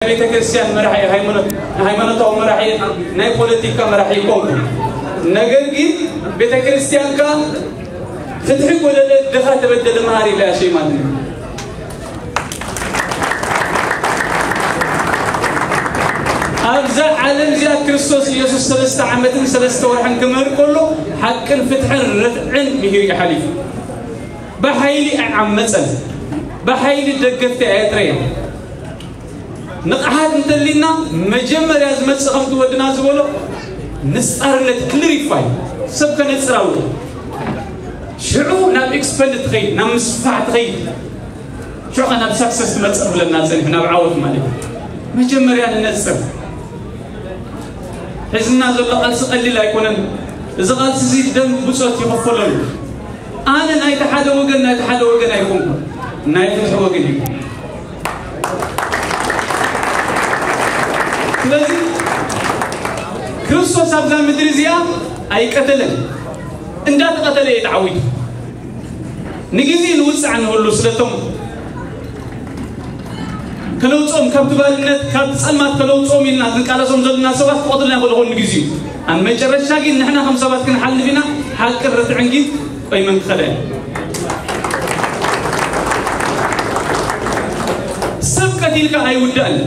ቤተ ክርስቲያን መራሒ፣ ሃይማኖት፣ ሃይማኖታዊ መራሒ፣ ናይ ፖለቲካ መራሒ ይኮንኩ። ነገር ግን ቤተ ክርስቲያንካ ፍትሒ ጎደለ፣ ድኻ ተበደለ መሃር ኢላ እያ ሸይማትኒ። ኣብዛ ዓለም እዚኣ ክርስቶስ ኢየሱስ ሰለስተ ዓመትን ሰለስተ ወርሕን ክምህር ከሎ፣ ሓቅን ፍትሕን ርትዕን ምሂሩ እዩ ሓሊፉ። ብሓይሊ ኣይዓመፀን፣ ብሓይሊ ደገፍቲ ኣየጥረየን። ንቕሓት እንተሊና፣ መጀመርያ ዝመጽእ ከምቲ ወድና ዝበሎ ንጻርነት፣ ክሊሪፋይ፣ ሰብ ከነጽር ኣለዎ። ሽዑ ናብ ኤክስፐንድ ትኸይድ፣ ናብ ምስፋሕ ትኸይድ። ሽዑ ኸ ናብ ሳክሰስ ትመጽእ ብለና ጸኒሑ፣ ናብ ዓወት ማለት እዩ። መጀመርያ ንነጽር። ሕዝና ዘሎ ቃልሲ ቀሊል ኣይኮነን። እዚ ቃልሲ እዚ ደም ብጾት ይኸፈለሉ። ኣነ ናይቲ ሓደ ወገን፣ ናይቲ ሓደ ወገን ኣይኮንኩን፣ ናይ ፍትሒ ወገን እዩ። ስለዚ ክርስቶስ ኣብዛ ምድሪ እዚኣ ኣይቀተለን፣ እንዳተቐተለ እዩ ተዓዊቱ። ንግዜ ንውፅዕ ንህሉ ስለቶም ከለውፅኦም፣ ካብቲ ባርነት፣ ካብቲ ፀልማት ከለውፅኦም ኢልና ዝንቃለሶም ዘለና ሰባት ክቐትልና ይኽእሉ ይኾኑ ንግዜኡ። ኣብ መጨረሻ ግን ንሕና ከም ሰባት ክንሓልፍ ኢና። ሓቅን ርትዕን ግን ቆይመን ክኸዳ እየን። ሰብ ቀቲልካ ኣይውዳእን፣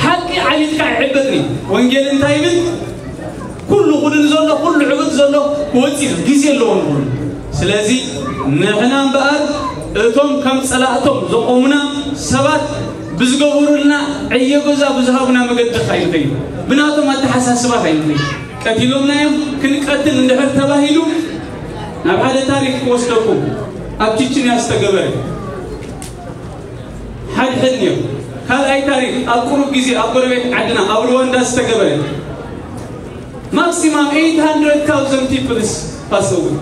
ሓቂ ዓሊትካ ኣይዕበጥን እዩ። ወንጌል እንታይ ይብል? ኩሉ ኩሉ ዘሎ፣ ኩሉ ዕብጥ ዘሎ ክወጽእ እዩ፣ ግዜ ኣለዎ ንኹሉ። ስለዚ ንሕና እምበኣር እቶም ከም ጸላእቶም ዘቆሙና ሰባት ብዝገበሩልና ዕዮ ገዛ ብዝሃቡና መገዲ ኸይንኸይድ፣ ብናቶም ኣተሓሳስባ ኸይንኸይድ፣ ቀቲሎምና እዮም። ክንቀትል እንድሕር ተባሂሉ ናብ ሓደ ታሪኽ ክወስደኩም፣ ኣብ ቺችንያ ዝተገበረ ሓድሕድ ነይሩ። ካልኣይ ታሪኽ ኣብ ቁሩብ ግዜ ኣብ ጎረቤት ዓድና ኣብ ሩዋንዳ ዝተገበረ፣ ማክሲማም ኤይት ሃንድረድ ታውዘንድ ፒፕልስ ፓስ ኣወይ፣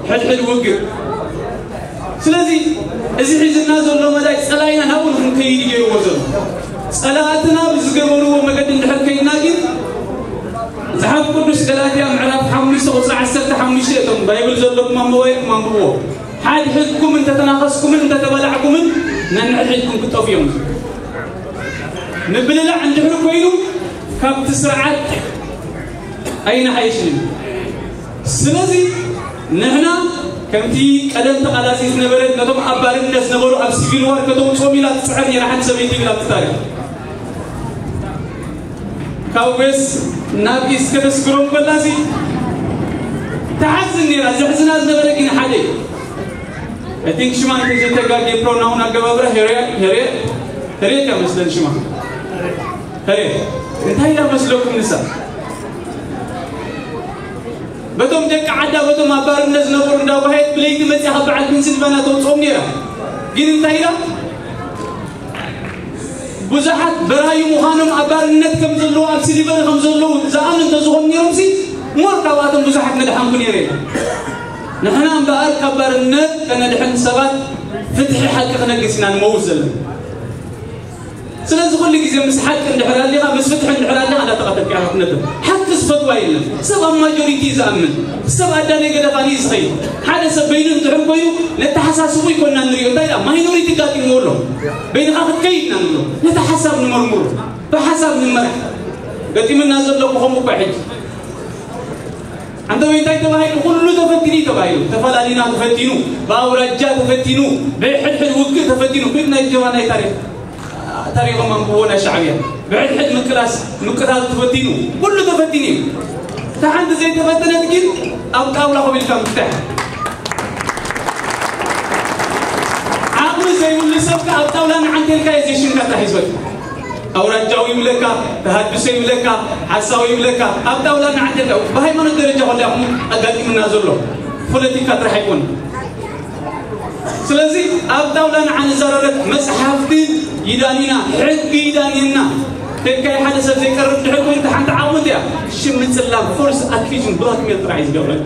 ሕድሕድ ውግእ። ስለዚ እዚ ሒዝና ዘሎ መዳይ ጸላኢና ናብኡ ንክንከይድ እዩ ገይርዎ ዘሎ። ጸላእትና ብዝገበርዎ መገዲ እንድሕር ከይድና ግን፣ መጽሓፍ ቅዱስ ገላትያ ምዕራፍ ሓሙሽተ ቁጽሪ ዓሰርተ ሓሙሽተ፣ እቶም ባይብል ዘለኩም ኣብ ሞባይልኩም ኣንብብዎ። ሓድሕድኩም እንተተናኸስኩምን እንተተበላዕኩምን ነንሕድሕድኩም ክጠፍኡ እዮም። ምብልላዕ እንድሕር ኮይኑ ካብቲ ስርዓት ኣይንሓይሽን። ስለዚ ንሕና ከምቲ ቀደም ተቓላሲ ዝነበረ ነቶም ኣብ ባርነት ዝነበሩ ኣብ ሲቪል ዋር ከተውፅኦም ኢላ ትፅዕር ነይራ ሓንቲ ሰበይቲ ይብል ኣብቲ ታሪኽ። ካብ ዌስት ናብ ኢስት ከተስግሮም ከላሲ ትሓዝን ነይራ። ዘሕዝና ዝነበረ ግን ሓደ እዩ። I think ሽማ እንተዘይተጋግየ ፕሮናውን ኣገባብራ ሄርየት፣ ሄርየት፣ ሄርየት እያ መስለን ሽማ። ሄርየት። እንታይ ኢላ መስለኩም ንሳ? በቶም ደቂ ዓዳ፣ በቶም ኣብ ባርነት ዝነበሩ እንዳጓሃየት ብለይቲ መጽያ ካብ በዓል ፔንሲልቫንያ ተውፅኦም ነይራ። ግን እንታይ ኢላ? ብዙሓት በራዩ ምዃኖም ኣብ ባርነት ከም ዘለዉ፣ ኣብ ስሊቨሪ ከም ዘለዉ ዝኣምን እንተዝኾኑ ነይሮምሲ፣ ሞር ካብኣቶም ብዙሓት ምድሓንኩ ነይረ። ንሕና እምበኣር ካብ ባርነት ከነድሕን ሰባት ፍትሒ ሓቂ ክነግስ ኢና ንመውት ዘለና። ስለዚ ኩሉ ግዜ ምስ ሓቂ እንድሕር ኣሊኻ፣ ምስ ፍትሒ እንድሕር ኣሊኻ፣ እንዳተቐተልካ ኢኻ ክትነብር። ሓቂ ዝፈትዋ የለን። ሰብ ኣብ ማጆሪቲ እዩ ዝኣምን። ሰብ ኣዳለይ ገደፋኒ እዩ ዝኸይድ። ሓደ ሰብ በይኑ እንድሕር ኮይኑ፣ ነተሓሳስቡ ይኮና ንሪኦ። እንታይ ኢላ? ማይኖሪቲ ጋጢምዎ ኣሎ። በይንኻ ክትከይድ ኢና ንብሎ። ነቲ ሓሳብ ንመርምሮ። ብሓሳብ ንመራሕ። ገጢምና ዘሎ ብኸምኡ እኮ ሕጂ። ኣንተ ወይ እንታይ ተባሂሉ? ኩሉ ተፈቲኑ እዩ ተባሂሉ። ተፈላሊና ተፈቲኑ፣ ብኣውራጃ ተፈቲኑ፣ ብሕድሕድ ውግእ ተፈቲኑ። ኩሉ ናይ ጀባ ናይ ታሪኽ፣ ታሪኾም ኣንብቦ ናይ ሻዕብያ። ብሕድሕድ ምቅላስ፣ ምቅታል ተፈቲኑ፣ ኩሉ ተፈቲኑ እዩ። እታ ሓንቲ ዘይተፈተነት ግን ኣብ ጣውላ ኮፍ ኢልካ ምፍታሕ። ዓቕሚ ዘይብሉ ሰብ ከኣ ኣብ ጣውላ ንዓንቴልካ እዩ ዘይሽንካ ጥራሕ ይዝበል። ኣውራጃዊ ይብለካ፣ ተሃድሶ ይብለካ፣ ሓሳዊ ይብለካ፣ ኣብ ጣውላ ንዓንቴልካ። ብሃይማኖት ደረጃ ኮላ ይኹን ኣጋጢምና ዘሎ ፖለቲካ ጥራሕ ኣይኮነን። ስለዚ ኣብ ጣውላ ንዓ ንዘራረብ፣ መጽሓፍቲ ይዳኒና፣ ሕጊ ይዳኒና። ከይድካ ሓደ ሰብ ዘይቀርብ ድሕር ኮይኑ፣ እታ ሓንቲ ዓቕሚ እያ። ሽም ምጽላም፣ ፎርስ ኣኪዩዥን፣ ብላክሜል ጥራሕ እዩ ዝገብረን።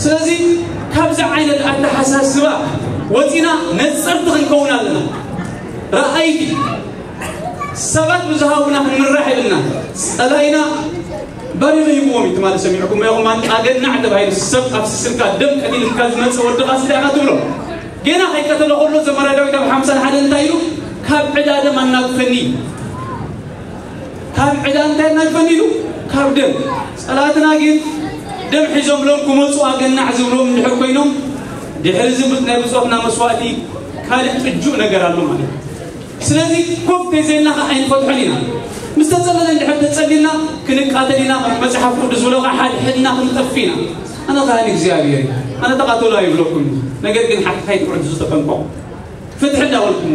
ስለዚ ካብዚ ዓይነት ኣተሓሳስባ ወፂና ነፀርቲ ክንከውን ኣለና። ረኣይቲ ሰባት ብዝሃቡና ክንምራሕ የብልና። ፀላኢና ባሪመ ሂብዎም እዩ ትማሊ ሰሚዕኩም ኢኹም። ኣን-፣ ኣገናዕ ተባሂሉ ሰብ ኣብ ስስልካ ደም ቀቲልካ ዝመፀ ወድኻ ስለ ኢኻ ትብሎ። ገና ከይቀተሎ ከሎ ዘመራ ዳዊት ኣብ ሓምሳን ሓደን እንታይ ኢሉ? እናግፈኒ ካብ ዕዳ እንታይ እናግፈኒ ኢሉ ካብ ደም። ጸላትና ግን ደም ሒዞም ሎም ክመጹ ኣገናዕ ዝብሎም እንድሕር ኮይኖም ድሕሪ ዝብት ናይ ብጾትና መስዋእቲ ካልእ ጥጁእ ነገር ኣሎ ማለት እዩ። ስለዚ ኮፍ ተይዘልና ከዓ ኣይንፈትሖን ኢና። ምስ ተጸለለ እንድሕር ተጸሊልና ክንቃተል ኢና። መጽሓፍ ቅዱስ ዝብሎ ከዓ ሓድሕድና ክንጠፍ ኢና። ኣነ ካህን እግዚኣብሔር እዩ። ኣነ ተቃተሉ ኣይብለኩም። ነገር ግን ሓቂ ከይትውዕል ዝተጠንቀቁ ፍትሒ እንዳበልኩሞ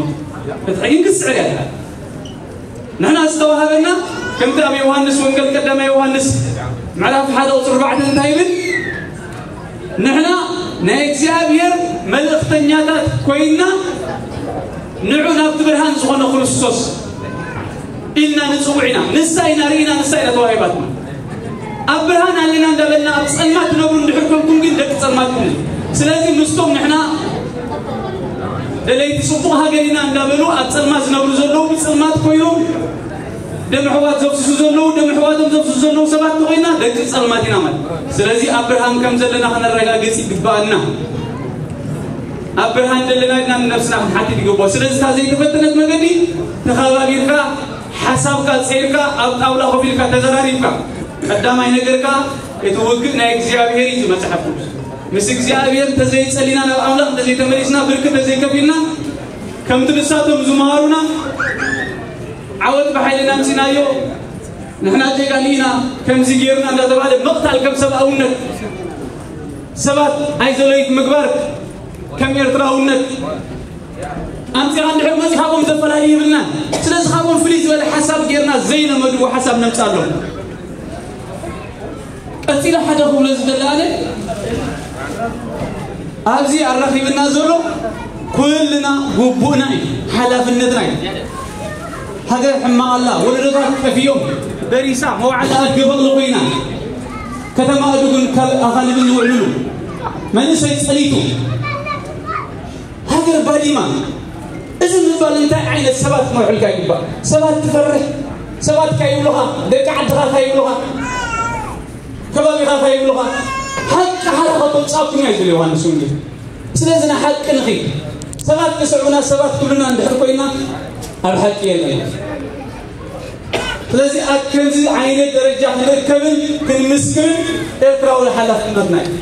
ፍትሒ ግን ክስዕር ያለ ንሕና ዝተዋሃበና ከምቲ ኣብ ዮሃንስ ወንጌል ቀዳማይ ዮሃንስ ምዕራፍ ሓደ ቁፅሪ ኣርባዕተ እንታይ ይብል? ንሕና ናይ እግዚኣብሔር መልእኽተኛታት ኮይንና ንዑ ናብቲ ብርሃን ዝኾነ ክርስቶስ ኢልና ንጽውዕ ኢና። ንሳ ኢና ርኢና፣ ንሳ ኢና ተዋሂባትና። ኣብ ብርሃን ኣለና እንዳበልና ኣብ ጸልማት ትነብሩ እንድሕር ኮንኩም ግን ደቂ ጸልማት ኢኹም። ስለዚ ምስቶም ንሕና ደለይቲ ጽቡቕ ሃገር ኢና እንዳበሉ ኣብ ጸልማት ዝነብሩ ዘለዉ ብጸልማት ኮይኖም ደም ኣሕዋት ዘፍስሱ ዘለዉ ደም ኣሕዋቶም ዘፍስሱ ዘለዉ ሰባት ተኾይና ደቂ ጸልማት ኢና ማለት። ስለዚ ኣብ ብርሃን ከም ዘለና ከነረጋግጽ ይግባኣና። ኣብ ብርሃን ዘለና ኢልና ንነብስና ክንሓትት ይግባእ። ስለዚ እታ ዘይተፈተነት መገዲ ተኸባቢርካ ሓሳብካ ጸይርካ ኣብ ጣውላ ኮፍ ኢልካ ተዘራሪብካ ቀዳማይ ነገርካ እቲ ውግእ ናይ እግዚኣብሔር እዩ መጽሓፍ ቅዱስ። ምስ እግዚኣብሔር እንተዘይጸሊና ናብ ኣምላኽ እንተዘይተመሊስና ብርክ እንተዘይከፊልና ከምቲ ንሳቶም ዝመሃሩና ዓወት ብሓይልና ኣምጺናዮ ንሕና ጀጋኑ ኢና ከምዚ ጌርና እንዳተባለ ምቕታል ከም ሰብኣውነት ሰባት ኣይዘለዩት ምግባር ከም ኤርትራውነት ኣምጺኻ እንድሕር መጽእ ካብኦም ዘፈላሊ ይብልና። ስለዚ ካብኦም ፍልይ ዝበለ ሓሳብ ጌርና ዘይለመድዎ ሓሳብ ነምጽኣሎም። ቀጺለ ሓደ ክብሎ ዝደሊ ኣነ ኣብዚ ኣራኺብና ዘሎ ኩልና ግቡእና እዩ፣ ሓላፍነትና እዩ። ሃገር ሕማቕ ኣላ፣ ወለዶታት ጠፊኦም፣ በሪሳ መውዓሊ ኣድገ በቕሊ ኮይና፣ ከተማ ኣድጉን ካብ ኣኻልብን ዝውዕልሉ መንእሰይ ጸሊቱ ሃገር ባዲማ። እዚ ምባል እንታይ ዓይነት ሰባት ክመርሑልካ ይግባእ? ሰባት ትፈርሕ፣ ሰባት ካይብሉኻ፣ ደቂ ዓድኻ ካይብሉኻ፣ ከባቢኻ ካይብሉኻ፣ ሓቂ ሓራ ከተውጻእኩም እያ ዝብል ዮሃንስ ወንጌል። ስለዚ ንሓቂ ንኺድ። ሰባት ክስዕቡና፣ ሰባት ክብሉና እንድሕር ኮይና ኣብ ሓቂ የለን። ስለዚ ኣብ ከምዚ ዓይነት ደረጃ ክንርከብን ክንምስክርን ኤርትራዊ ሓላፍነትና እዩ።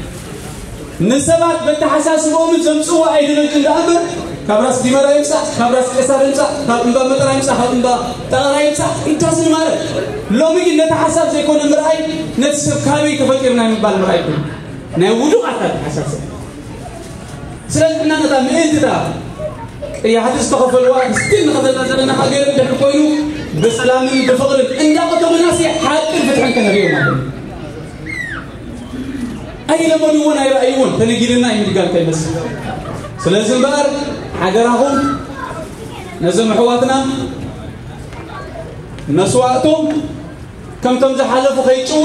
ንሰባት በተሓሳስቦምን ዘምጽዎ ኣይዲዮሎጂ እንዳ እምበር ካብ ራስ ዲመራ ይምጻእ፣ ካብ ራስ ቀሳር ይምጻእ፣ ካብ እምባ መጠራ ይምጻእ፣ ካብ እምባ ጠቐራ ይምጻእ፣ it doesn't matter። ሎሚ ግን ነቲ ሓሳብ ዘይኮነ ምርኣይ ነቲ ሰብ ካበይ ተፈጢርና ምባል ምርኣይ ኮይኑ ናይ ውዱቓት ኣተሓሳስብ። ስለዚ እና ነታ ምእንትታ ቅያሕቲ ዝተኸፈልዋ ስቲል ንኸፈልና ዘለና ሃገር እንድሕር ኮይኑ ብሰላምን ብፍቕርን እንዳቐተሉና ሲ ሓቅን ፍትሕን ከነርእዮ ማለት እዩ። ኣይለመድዎን ኣይረኣይዎን ተነጊርና እዩ ምድጋል ከይመስል። ስለዚ እምበኣር ሓደራኹም ነዞም ኣሕዋትና መስዋእቶም ከምቶም ዝሓለፉ ከይጭወ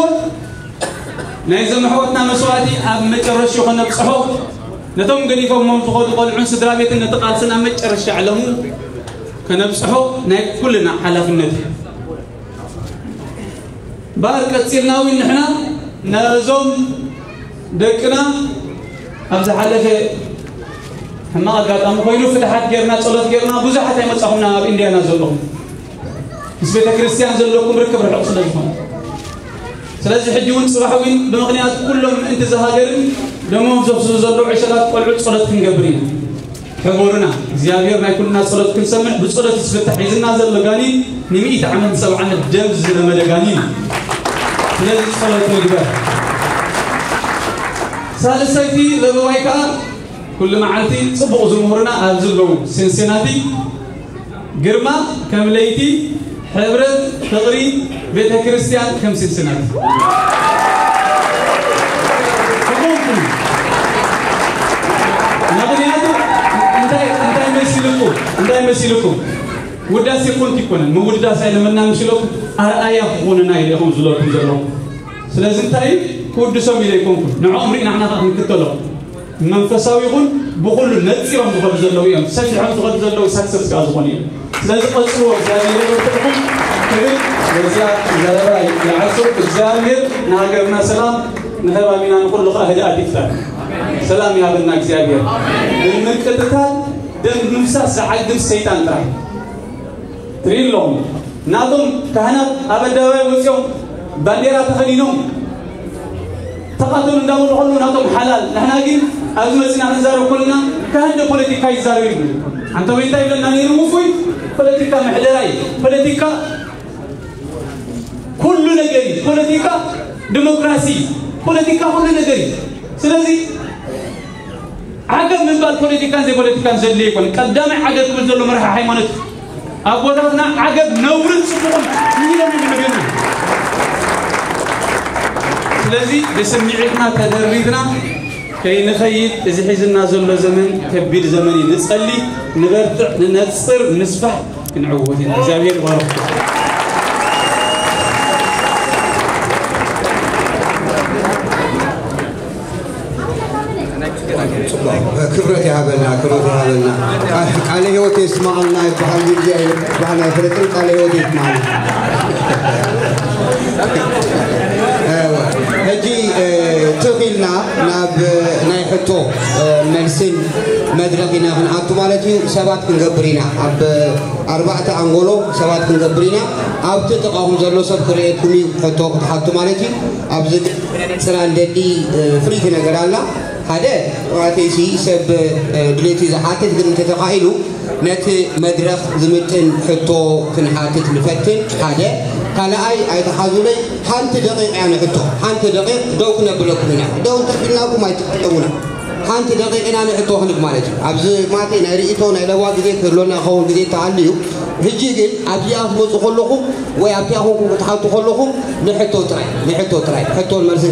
ናይዞም ኣሕዋትና መስዋእቲ ኣብ መጨረሽኡ ከነብፅሖ ነቶም ገዲፎሞም ዝኸዱ ቆልዑን ስድራ ቤትን ነቲ ቃልስን ኣብ መጨረሻ ዕለሙ ከነብፅሖ ናይ ኩልና ሓላፍነት እዩ። እምበኣር ቀፂልና እውን ንሕና ነዞም ደቅና ኣብ ዝሓለፈ ሕማቕ ኣጋጣሚ ኮይኑ ፍትሓት ጌርና ጸሎት ጌርና ብዙሓት ኣይመጻኹምና ኣብ ኢንድያና ዘለኹም ምስ ቤተ ክርስቲያን ዘለኩም ርክብ ርሑቕ ስለ ዝኾነ ስለዚ ሕጂ እውን ጽባሕ እውን ብምኽንያት ኩሎም ምእንቲ ዝሃገርን ደሞም ዘፍስሱ ዘለዉ ዕሸላት ቆልዑት ጸሎት ክንገብር ኢና። ሕበሩና እግዚኣብሔር ናይ ኩልና ጸሎት ክንሰምዕ ብጸሎት ዝፍታሕ ሒዝና ዘሎ ጋኒን ንሚእቲ ዓመት ንሰብዓ ዓመት ደም ዝለመደ ጋኒን እዩ። ስለዚ ጸሎት ንግበር። ሳልሰይቲ ለበዋይ ከኣ ኩሉ መዓልቲ ጽቡቕ ዝምህሩና ኣብዚ ኣለዉ ሲንሲናቲ ግርማ ከም ለይቲ ሕብረት ፍቕሪ ቤተ ክርስቲያን ከም ሲንሲናቲ ምኽንያቱ እንታይ እንታይ መሲልኩ እንታይ መሲልኩ ውዳሴ ኮንት ይኮነን ምውዳስ ኣይለመና ምሽለኩም ኣርኣያ ክኾኑና ኢለ ኢኹም ዝለኩም ዘለኹም ስለዚ እንታይ ክውድሶም ኢለ ይኮንኩ ንዕኦም ርኢና ንሕና ክንክተሎም መንፈሳዊ ይኹን ብኹሉ ነፂሮም ዝኸዱ ዘለዉ እዮም ሰፊሖም ዝኸዱ ዘለዉ ሳክሰስ ከዓ ዝኾኑ እዮም ስለዚ ቀፅልዎ እግዚኣብሔር ይበርትዕኩም ክብል በዚያ ዘረባ ይዓርሶ እግዚኣብሔር ንሃገርና ሰላም ንከባቢና ንኩሉ ከዓ ህድኣት ይፍጠር ሰላም ይሃበና እግዚኣብሔር ብምቅጥታል ደም ምፍሳስ ዝዓግብ ሰይጣን ጥራሕ ትርኢ ኣለኹም። ናቶም ካህናት ኣብ ኣደባባይ ወፂኦም ባንዴራ ተኸዲኖም ተቓተሉ እንዳበሉ ከለዉ ናቶም ሓላል። ንሕና ግን ኣብዚ መፂና ክንዛረብ ከለና ካህን ዶ ፖለቲካ ይዛረብ ይብሉ። ኣንተ ወይ እንታይ ይብለና ነይሩ ውፉይ? ፖለቲካ ምሕደራ እዩ። ፖለቲካ ኩሉ ነገር እዩ። ፖለቲካ ዲሞክራሲ እዩ። ፖለቲካ ኩሉ ነገር እዩ። ስለዚ ዓገብ ምባል ፖለቲካን ዘይፖለቲካን ዘድልዮ ኣይኮነ። ቀዳማይ ዓገብ ክብል ዘሎ መራሒ ሃይማኖት ኣቦታትና ዓገብ ነውርን ጽቡቕን ኢሎም ይምዕብዩና። ስለዚ ብስምዒትና ተደሪድና ከይንኸይድ እዚ ሒዝና ዘሎ ዘመን ከቢድ ዘመን እዩ። ንጸሊ፣ ንበርትዕ፣ ንነጽር፣ ንስፋሕ፣ ክንዕወት ኢና። እግዚኣብሔር ይባርኽኩም። ክብረት ይሃበልና፣ ክብረት ይሃበልና። ቃ- ቃለ ህይወት የስማዕልና ይበሃል፣ ግዜ ይበሃል ኣይፈለጥን፣ ቃለ ህይወት የስማዕልና። እወ፣ ሕጂ እ፣ ትኽ ኢልና ናብ ናይ ሕቶ እ፣ መልስን መድረኽ ኢና ክንኣቱ ማለት እዩ። ሰባት ክንገብር ኢና፣ ኣብ ኣርባዕተ ኣንጎሎ ሰባት ክንገብር ኢና። ኣብቲ ጥቓኹም ዘሎ ሰብ ክርእየኩም እዩ፣ ሕቶ ክትሓቱ ማለት እዩ። ኣብዚ ጽላል ደሊ እ፣ ፍልይቲ ነገር ኣላ። ሓደ ዋተይሲ ሰብ እ፣ ድሌቱ ዝሓትት ግን እንተተኻኢሉ ነቲ መድረኽ ዝምጥን ሕቶ ክንሓትት ንፈትን። ሓደ ካልኣይ ኣይተሓዙለይ፣ ሓንቲ ደቂቕ እያ ንሕቶ። ሓንቲ ደቂቕ ደው ክነብለኩም ኢና። ደው እንተቢልናኩም ኣይትጥቀሙና። ሓንቲ ደቂቕ ኢና ንሕቶ ክንብ ማለት እዩ። ኣብዚ ማቴ ናይ ርእይቶ ናይ ለዋ ግዜ ክህሎና ክኸውን ግዜ ተሃልዩ፣ ሕጂ ግን ኣብዚኣ ክትመፁ ከለኹም ወይ ኣብቲኣ ኮንኩም ክትሓቱ ከለኹም ንሕቶ ጥራይ፣ ንሕቶ ጥራይ፣ ሕቶን መልስን